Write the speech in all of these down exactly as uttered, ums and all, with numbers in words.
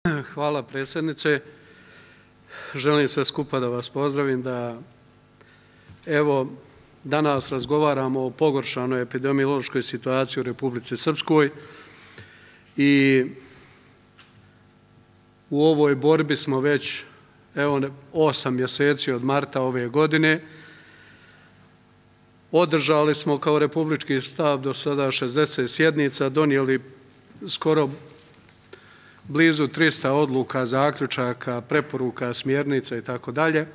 Hvala predsjednice. Želim sve skupa da vas pozdravim, da evo danas razgovaramo o pogoršanoj epidemiološkoj situaciji u Republici Srpskoj i u ovoj borbi smo već evo osam mjeseci od marta ove godine. Održali smo kao republički štab do sada šezdeset sjednica, donijeli skoro blizu trista odluka, zaključaka, preporuka, smjernica i tako dalje.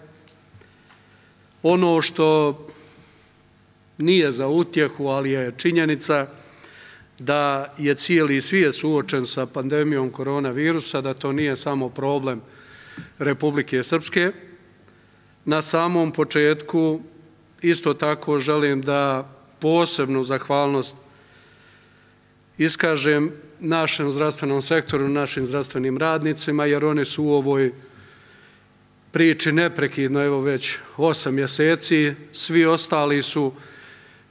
Ono što nije za utjehu, ali je činjenica da je cijeli svijet suočen sa pandemijom koronavirusa, da to nije samo problem Republike Srpske. Na samom početku isto tako želim da posebnu zahvalnost iskažem našem zdravstvenom sektoru, našim zdravstvenim radnicima, jer oni su u ovoj priči neprekidno, evo već osam mjeseci. Svi ostali su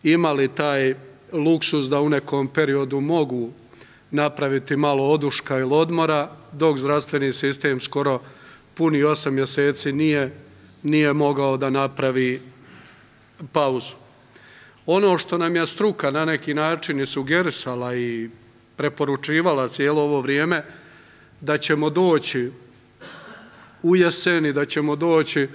imali taj luksuz da u nekom periodu mogu napraviti malo oduška ili odmora, dok zdravstveni sistem skoro puni osam mjeseci nije, nije mogao da napravi pauzu. Ono što nam je struka na neki način i sugerisala i preporučivala cijelo ovo vrijeme, da ćemo doći u jeseni, da ćemo doći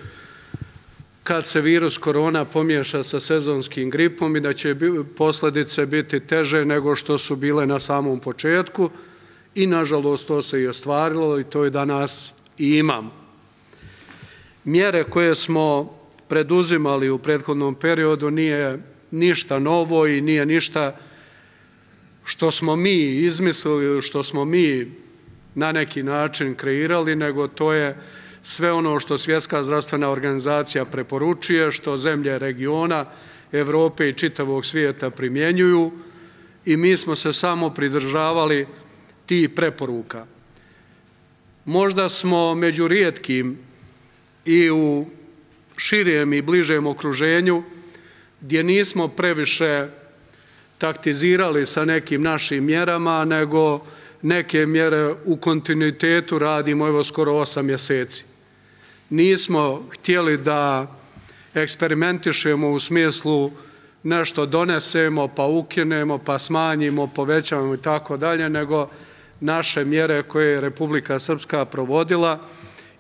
kad se virus korona pomiješa sa sezonskim gripom i da će posljedice biti teže nego što su bile na samom početku i nažalost to se i ostvarilo i to i danas i imamo. Mjere koje smo preduzimali u prethodnom periodu nije ništa novo i nije ništa što smo mi izmislili, što smo mi na neki način kreirali, nego to je sve ono što Svjetska zdravstvena organizacija preporučuje, što zemlje regiona, Evrope i čitavog svijeta primjenjuju i mi smo se samo pridržavali tih preporuka. Možda smo među rijetkim i u širijem i bližem okruženju gdje nismo previše taktizirali sa nekim našim mjerama, nego neke mjere u kontinuitetu radimo evo skoro osam mjeseci. Nismo htjeli da eksperimentišemo u smislu nešto donesemo, pa ukinemo, pa smanjimo, povećamo i tako dalje, nego naše mjere koje je Republika Srpska provodila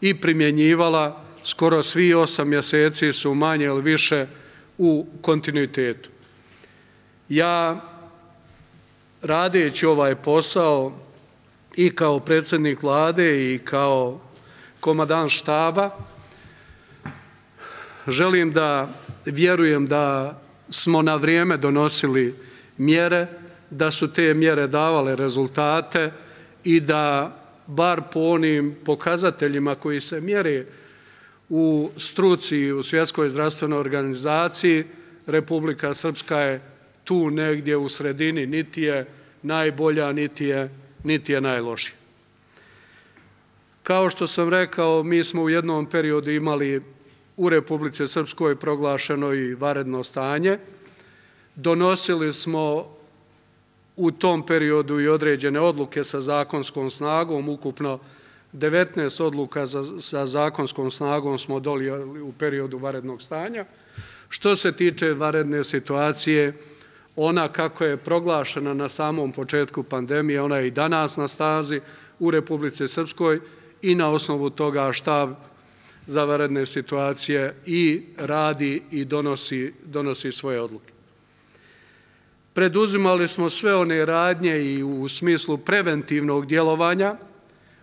i primjenjivala skoro svi osam mjeseci su manje ili više u kontinuitetu. Ja, radeći ovaj posao i kao predsjednik vlade i kao komandant štaba, želim da vjerujem da smo na vrijeme donosili mjere, da su te mjere davale rezultate i da bar po onim pokazateljima koji se mjere u struci i u Svjetskoj zdravstvenoj organizaciji, Republika Srpska je tu negdje u sredini, niti je najbolja, niti je, niti je najlošija. Kao što sam rekao, mi smo u jednom periodu imali u Republici Srpskoj proglašeno i vanredno stanje. Donosili smo u tom periodu i određene odluke sa zakonskom snagom, ukupno devetnaest odluka sa zakonskom snagom smo donijeli u periodu vanrednog stanja. Što se tiče vanredne situacije, ona kako je proglašena na samom početku pandemije, ona je i danas na snazi u Republici Srpskoj i na osnovu toga štab za vanredne situacije i radi i donosi, donosi svoje odluke. Preduzimali smo sve one radnje i u smislu preventivnog djelovanja,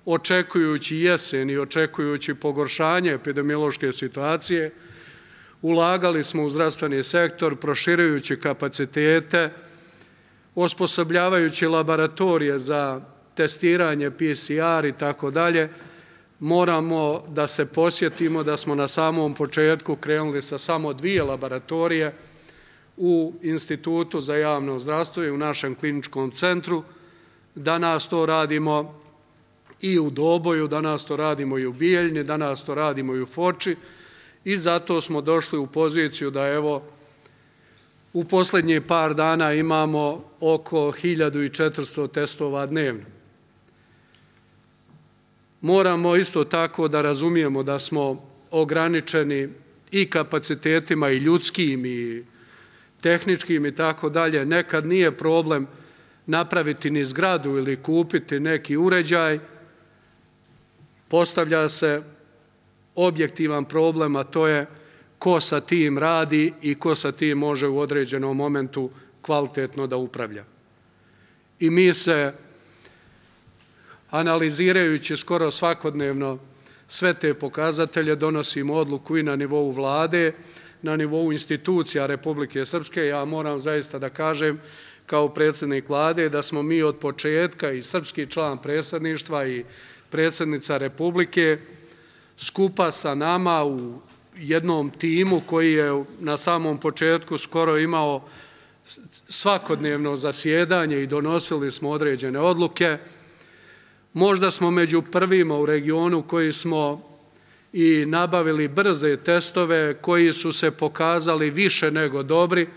očekujući jesen i očekujući pogoršanje epidemiološke situacije. Ulagali smo u zdravstveni sektor, proširujući kapacitete, osposobljavajući laboratorije za testiranje, P C R i tako dalje. Moramo da se posjetimo da smo na samom početku krenuli sa samo dvije laboratorije u Institutu za javno zdravstvo i u našem kliničkom centru. Danas to radimo i u Doboju, danas to radimo i u Bijeljni, danas to radimo i u Foči. I zato smo došli u poziciju da evo u posljednjih par dana imamo oko hiljadu četiristo testova dnevno. moramo isto tako da razumijemo da smo ograničeni i kapacitetima i ljudskim i tehničkim i tako dalje. Nekad nije problem napraviti ni zgradu ili kupiti neki uređaj. Postavlja se objektivan problem, a to je ko sa tim radi i ko sa tim može u određenom momentu kvalitetno da upravlja. I mi se, analizirajući skoro svakodnevno sve te pokazatelje, donosimo odluku i na nivou vlade, na nivou institucija Republike Srpske. Ja moram zaista da kažem kao predsjednik vlade da smo mi od početka i srpski član predsjedništva i predsjednica Republike skupa sa nama u jednom timu koji je na samom početku skoro imao svakodnevno zasjedanje i donosili smo određene odluke. Možda smo među prvima u regionu koji smo i nabavili brze testove koji su se pokazali više nego dobri,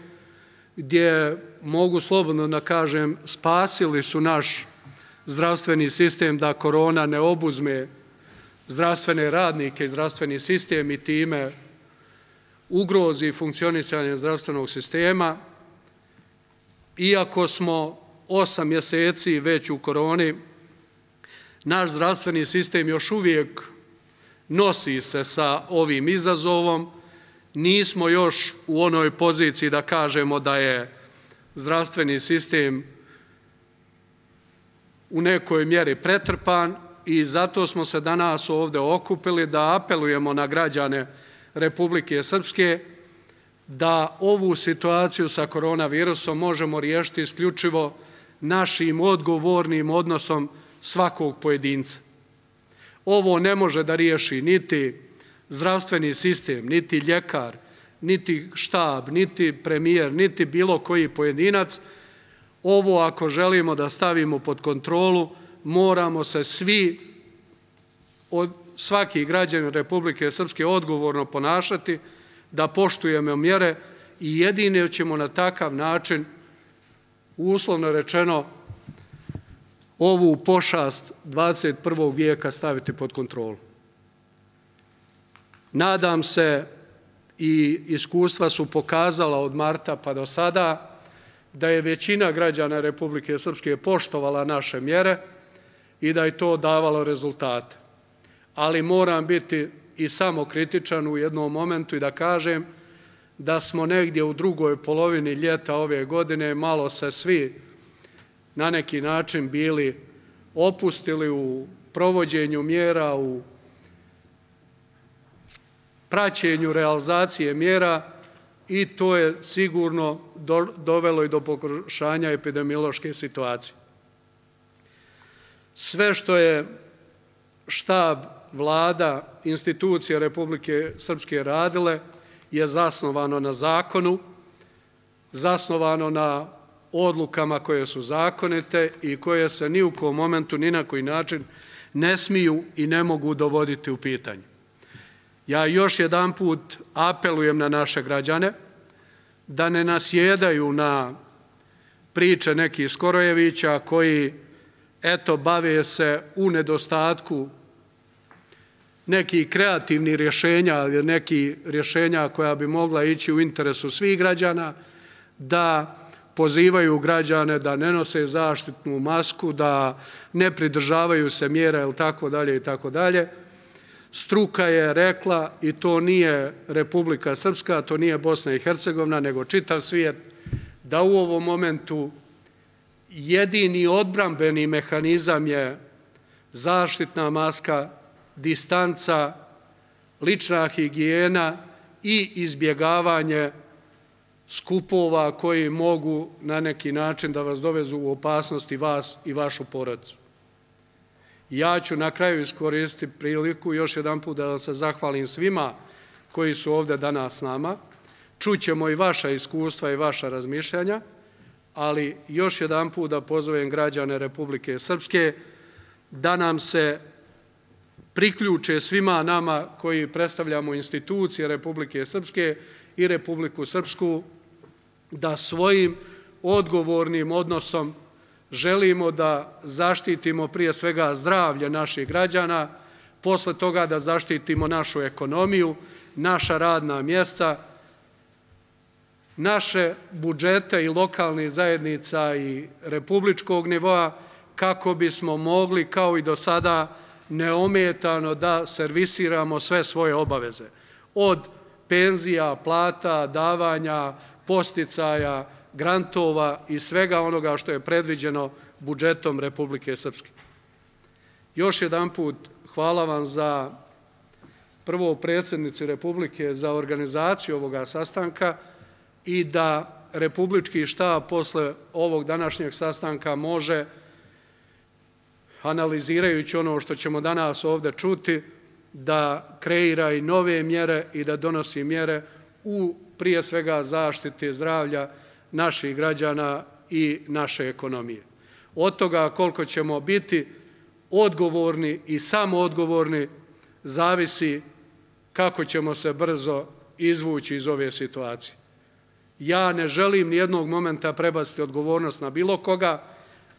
gdje mogu slobodno da kažem spasili su naš zdravstveni sistem da korona ne obuzme zdravstvene radnike i zdravstveni sistem i time ugrozi funkcionisanje zdravstvenog sistema. Iako smo osam mjeseci već u koroni, naš zdravstveni sistem još uvijek nosi se sa ovim izazovom. Nismo još u onoj poziciji da kažemo da je zdravstveni sistem u nekoj mjeri pretrpan i zato smo se danas ovdje okupili da apelujemo na građane Republike Srpske da ovu situaciju sa koronavirusom možemo riješiti isključivo našim odgovornim odnosom svakog pojedinca. Ovo ne može da riješi niti zdravstveni sistem, niti ljekar, niti štab, niti premijer, niti bilo koji pojedinac. Ovo ako želimo da stavimo pod kontrolu, moramo se svi, svaki građanin Republike Srpske odgovorno ponašati, da poštujemo mjere i jedino ćemo na takav način, uslovno rečeno, ovu pošast dvadeset prvog vijeka staviti pod kontrolu. Nadam se i iskustva su pokazala od marta pa do sada da je većina građana Republike Srpske poštovala naše mjere i da je to davalo rezultate. Ali moram biti i samokritičan u jednom momentu i da kažem da smo negdje u drugoj polovini ljeta ove godine malo se svi na neki način bili opustili u provođenju mjera, u praćenju realizacije mjera i to je sigurno dovelo i do pogoršanja epidemiološke situacije. Sve što je štab, vlada, institucije Republike Srpske radile je zasnovano na zakonu, zasnovano na odlukama koje su zakonite i koje se ni u kom momentu, ni na koji način ne smiju i ne mogu dovoditi u pitanje. Ja još jedan put apelujem na naše građane da ne nasjedaju na priče nekih Skorojevića koji, eto, bave se u nedostatku nekih kreativnih rješenja ili nekih rješenja koja bi mogla ići u interesu svih građana, da pozivaju građane da ne nose zaštitnu masku, da ne pridržavaju se mjera ili tako dalje i tako dalje. Struka je rekla, i to nije Republika Srpska, to nije Bosna i Hercegovina, nego čitav svijet, da u ovom momentu jedini odbrambeni mehanizam je zaštitna maska, distanca, lična higijena i izbjegavanje skupova koji mogu na neki način da vas dovezu u opasnosti vas i vašu porodicu. Ja ću na kraju iskoristiti priliku još jedan put da vam se zahvalim svima koji su ovdje danas s nama. Čućemo i vaša iskustva i vaša razmišljanja, ali još jedan put da pozovem građane Republike Srpske da nam se priključe svima nama koji predstavljamo institucije Republike Srpske i Republiku Srpsku, da svojim odgovornim odnosom želimo da zaštitimo prije svega zdravlje naših građana, posle toga da zaštitimo našu ekonomiju, naša radna mjesta, naše budžete i lokalnih zajednica i republičkog nivoa, kako bismo mogli, kao i do sada, neometano da servisiramo sve svoje obaveze. Od penzija, plata, davanja, posticaja, grantova i svega onoga što je predviđeno budžetom Republike Srpske. Još jedan put hvala vam za prvo predsjednici Republike za organizaciju ovoga sastanka i da Republički štab posle ovog današnjeg sastanka može, analizirajući ono što ćemo danas ovdje čuti, da kreira i nove mjere i da donosi mjere u prije svega zaštiti zdravlja naših građana i naše ekonomije. Od toga koliko ćemo biti odgovorni i samoodgovorni zavisi kako ćemo se brzo izvući iz ove situacije. Ja ne želim nijednog momenta prebaciti odgovornost na bilo koga,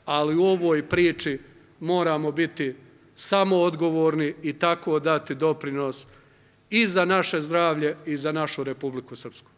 ali u ovoj priči moramo biti samoodgovorni i tako dati doprinos i za naše zdravlje i za našu Republiku Srpsku.